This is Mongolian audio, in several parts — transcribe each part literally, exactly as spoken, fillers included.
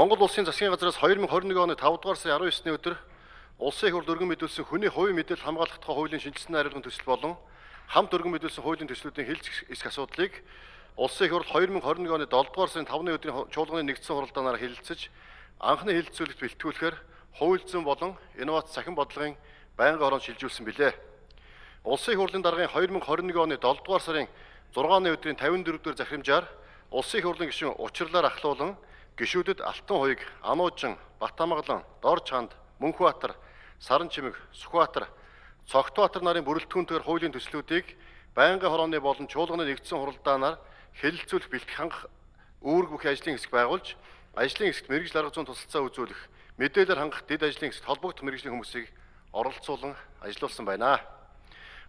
Монгол улсын засгийн газраас хоёр мың хорин нэг оны тавдугаар сарын арван есний өдөр улсын их хурлд өргөн мэдүүлсэн хүний хувийн мэдээлэл хамгаалах тухай хуулийн шинжилсэн хариуцлагын төсөл болон хамт өргөн мэдүүлсэн хуулийн төслүүдийн хэлж эсэх асуудлыг улсын их хурл хоёр мың хорин нэг оны долдугаар сарын тавны өдрийн чуулганы нэгдсэн хуралдаанаар хэлэлцэж анхны хэлэлцүүлэгт бэлтгүүлэхээр хууль зүйн болон инновац цахим бодлогын байнгын орон шилжүүлсэн билээ. Улсын их хурлын даргын хоёр мың хорин нэг оны долдугаар сарын зургааны өдрийн тавин дөрөвдүгээр захирамжаар улсын их хурлын гишүүн учрлаар ахлуулан гишүүдэд Алтан хуйг, Ануужин, Батамгалан, Дор чанд, Мөнхбаатар, Саранчимэг, Сүхбаатар, Цогтбаатар нарын бүрэлдэхүүнтэйгээр хуулийн төслүүдийг байнгын хорооны болон чуулганы нэгдсэн хуралдаанаар хэлэлцүүлэх бэлтгэх хангах үүрэг бүхий ажлын хэсэг байгуулж, ажлын хэсэгт мэргэжил арга зүйн тусалцаа үзүүлэх, мэдээлэлээр хангах дэд ажлын хэсэгт холбогдох мэргэжлийн хүмүүсийг оролцуулан ажиллуулсан байна.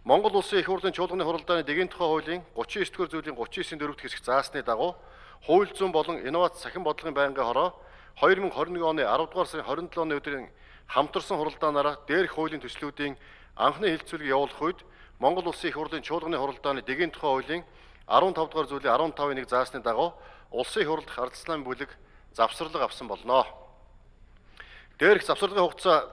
Монгол улсын их хурлын чуулганы хуралдааны дэгийн тухай хуулийн гучин девять дугаар зүйлийн гучин девятийн дөрөвт хэсэг заасны дагуу хууль зүйн болон инновац цахим бодлогын байнгын хороо хоёр мың хорин нэг оны арав дугаар сарын хорин долооны өдрийн хамтарсан хуралдаанаараа дээрх хуулийн төслүүдийн анхны хэлэлцүүлэг явуулах үед Монгол улсын их хурлын чуулганы хуралдааны дэгийн тухай хуулийн арван тав дугаар зүйлийн арван тавын нэг заасны дагуу улсын их хурлд ардчилсан бүлэг завсарлага авсан болно. Дээрх завсарлагын хугацаа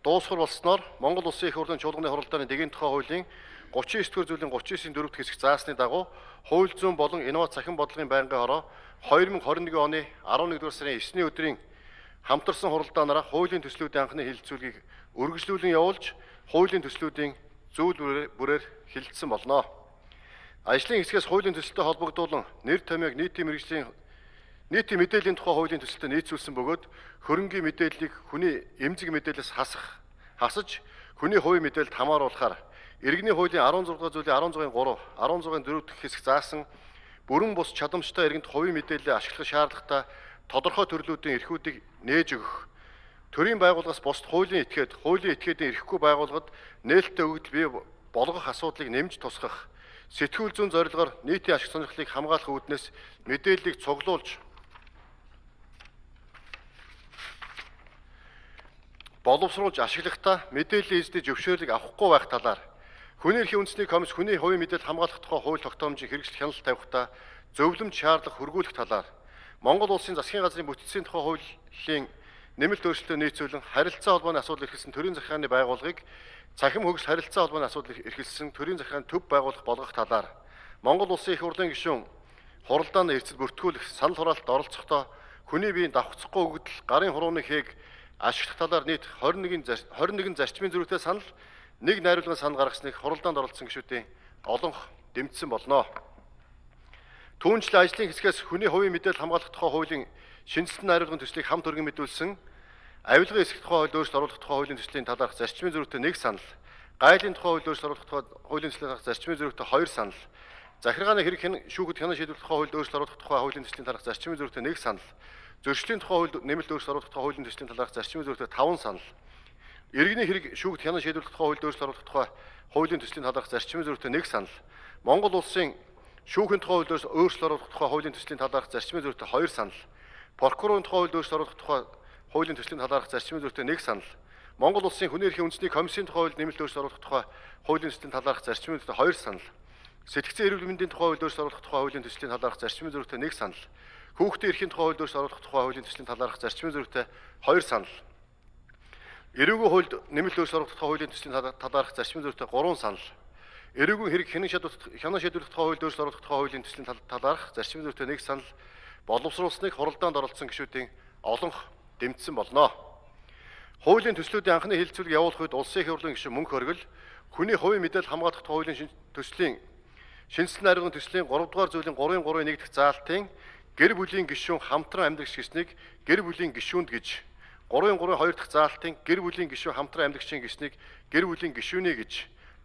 дуусгар болсноор Монгол улсын их хурлын чуулганы хуралдааны дэгийн тухай хуулийн гучин девять дугаар зүйлийн гучин девятийн дөрөвт хэсэг заасны дагуу хууль зүйн болон инновац цахим бодлогын байнгын хороо хоёр мың хорин нэг оны арван нэгдүгээр сарын есний өдрийн хамтарсан хуралдаанаараа хуулийн төслүүдийн анхны хэлэлцүүлгийг үргэлжлүүлэн явуулж, хуулийн төслүүдийн зүйл бүрээр хэлэлцсэн болно. Ажлын хэсгээс хуулийн төсөлтөд холбогдуулан нэр томьёог нийтийн мэргэжлийн нийтийн мэдээллийн тухай хуулийн төсөлтөд нийцүүлсэн бөгөөд хөрөнгийн мэдээллийг хүний эмзэг мэдээлэлээс хасах, хасаж хүний хувийн мэдээлэлд хамааруулахаар иргэний хуулийн арван зургаан дугаар зүйлийн арван зургийн гурав, арван зургаан дөрөв дахь хэсэг заасан бүрэн бус чадамжтай иргэнд хувийн мэдээлэлээ ашиглах шаардлагатай тодорхой төрлүүдийн эрхүүдийг нээж өгөх, төрийн байгууллагаас бусд хуулийн этгээд, хуулийн этгээдийн эрхгүй байгууллагад нээлттэй өгөгдөл бий болгох асуудлыг нэмж тусгах, сэтгүүл зүйн зорилгоор нийтийн ашиг сонирхлыг хамгаалах үүднээс мэдээллийг цуглуулж боловсруулж ашиглахдаа мэдээллийн эзэдийн зөвшөөрлийг авахгүй байх талаар хүний эрхийн үндэсний комисс хүний хувийн мэдээлэл хамгаалах тухай хууль тогтоомжийг хэрэгжил хяналт тавихдаа зөвлөмж шаардлага хүргүүлэх талаар Монгол улсын засгийн газрын бүтцийн тухай хуулийн нэмэлт өөрчлөлтөд нийцүүлэн харилцаа холбооны асуудал эрхэлсэн төрийн захиргааны байгууллагыг цахим хөгжил харилцаа холбооны асуудал эрхэлсэн төрийн захиргааны төв байгуулах болгох талаар Монгол улсын их хурлын гишүүн хуралдааны эрсдэл бүртгүүлэх санал хураалтад оролцохдоо хүний биеийн давхцахгүй өгөгдөл гарын хурууны хээг ашиглах талаар нийт хорин нэгэн зарчмын зөрүүтэй санал нэг найруулгын санал гаргасныг хуралдаанд оролцсон гишүүдийн олонх дэмжсэн болно. Түүнчлэн ажлын хэсгээс хүний хувийн мэдээлэл хамгаалах тухай хуулийн шинжилсэн найруулгын төслийг хамт өргөн мэдүүлсэн, авилгын эсэх тухай хууль өөрчлөлт оруулах тухай хуулийн төслийн талаарх зарчмын зөрүүтэй нэг санал, гайлын тухай хууль өөрчлөлт оруулах тухай хуулийн төслийн талаарх зарчмын зөрүүтэй хоёр санал, захиргааны хэрэг шүүхэд хянан шийдвэрлэх тухай хууль өөрчлөлт оруулах тухай хуулийн төслийн талаарх зарчмын зөрүүтэй нэг санал, зөрчлийн тухай хууль нэмэлт өөрчлөлт оруулах тухай хуулийн төслийн талаарх зарчмын зөрүүтэй таван санал, иргэний хэрэг шүүхэд хянан шийдвэрлэх тухай хууль өөрчлөлт оруулах тухай хуулийн төслийн талаарх зарчмын зөрүүтэй нэг санал, Монгол улсын шүүхийн тухай хууль өөрчлөлт оруулах тухай хуулийн төслийн талаарх зарчмын зөрүүтэй хоёр санал, прокурорын тухай хууль өөрчлөлт оруулах тухай хуулийн төслийн талаарх зарчмын зөрүүтэй нэг санал, Монгол улсын хүний эрхийн үндэсний комиссийн тухай хууль нэмэлт өөрчлөлт оруулах тухай хуулийн төслийн талаарх зарчмын зөрүүтэй хоёр санал, сэтгцэн эрүүл мэндийн тухай хууль өөрчлөлт оруулах тухай хуулийн төслийн талаарх зарчмын зөрүүтэй нэг санал, хүүхдийн эрхийн тухай хууль өөрчлөлт оруулах тухай хуулийн төслийн талаарх зарчмын зөрүүтэй хоёр санал, эрүүгийн хуульд нэмэлт өөрчлөлт оруулах тухай хуулийн төслийн талаарх зарчмын зөрүүтэй гурван санал, эрүүгийн хэрэг хянан шийдвэрлэх тухай хууль өөрчлөлт оруулах тухай хуулийн төслийн талаарх зарчмын зөрүүтэй нэг санал боловсруулсныг хуралдаанд оролцсон гишүүдийн олонх дэмжсэн болно. Хуулийн төслүүдийн анхны хэлэлцүүлэг явуулах үед улсын их хурлын гишүүн Мөнх Оргил хүний хувийн мэдээлэл хамгаалах тухай хуулийн төслийн шинжилсэн найруулгын төслийн гурав дугаар зүйлийн гурвын гурвын нэг дахь заалтын гэр бүлийн гишүүн хамтран амьдрагч гэснийг гэр бүлийн гишүүнд гэж, гурвын гурвын хоёр дахь заалтын гэр бүлийн гишүүн хамтран амьдрагчийн гэснийг гэр бүлийн гишүүнээ гэж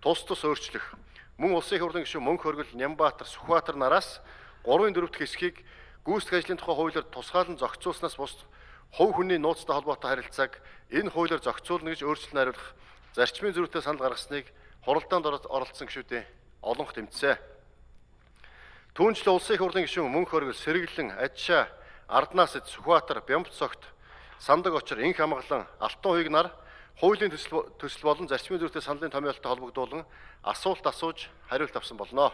тус тус өөрчлөх, мөн улсын их хурлын гишүүн Мөнх Оргил, Нямбаатар, Сүхбаатар нараас гурвын дөрөв дахь хэсгийг гүйцэтгэх ажлын тухай хуулиар тусгаалan зохицуулснаас бус хувь хүний нууцтай холбоотой харилцааг энэ хуулиар зохицуулна гэж өөрчлөлт найруулах зарчмын зөрүүтэй санал гаргасныг хуралдаанд оролцсон гишүүдийн олонх дэмжсэн. Түүнчлэн улсын их хурлын гишүүн Мөнх Оргил, Сэргэлэн, Ажшаа, Арднасэд, Сүхбаатар, Бямбцогт, Сандаг Очор, Инх Амгалан, Алтан хуйг нар хуулийн төсөл болон зарчмын зөрүүтэй саналын томьёолтой холбогдуулан асуулт асууж хариулт авсан болно.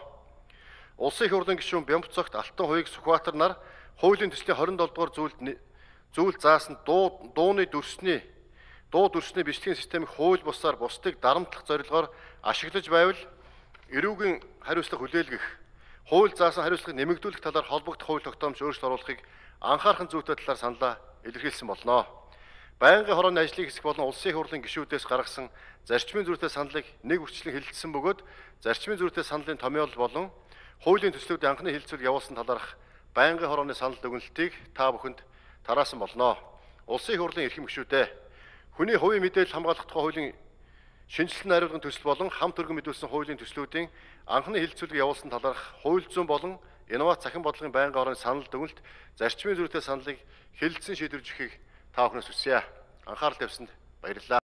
Улсын их хурлын гишүүн Бямбцогт, Алтан хуйг, Сүхбаатар нар хуулийн төслийн хорин долоо дугаар зүйлд зүйл заасан дуу дууны дүрсний дуу дүрсний бичлэгийн системийг хууль бусаар бусдыг дарамтлах зорилгоор ашиглаж байвал эрүүгийн хариуцлага хүлээлгэх, хууль заасан хариуцлагыг нэмэгдүүлэх талаар холбогдох хууль тогтоомж өөрчлөлт оруулахыг анхаархан зүйтэй талаар саналаа илэрхийлсэн болно. Байнгын хорооны ажлын хэсэг болон улсын их хурлын гишүүдээс гаргасан зарчмын зүйтэй саналыг нэг үрчлэн хэлэлцсэн бөгөөд зарчмын зүйтэй саналын томьёол болон хуулийн төслүүдийн анхны хэлэлцүүлэг явуулсан талаарх байнгын хорооны санал дүгнэлтийг та бүхэнд тараасан болно. Улсын их хурлын эрхэм гишүүдээ хүний хувийн мэдээлэл хамгаалах тухай хуулийн шинжилсэн найруулгын төсөл болон хамт өргөн мэдүүлсэн хуулийн төслүүдийн анхны хэлэлцүүлэг явуулсан талаарх хууль зүйн болон инновац захин бодлогын байнгын хорооны санал дүгнэлт зарчмын зүйтэй саналыг хэлэлцэн шийдвэрлэхийг та бүхнээс хүсье. Анхаарал тавьсанд баярлалаа.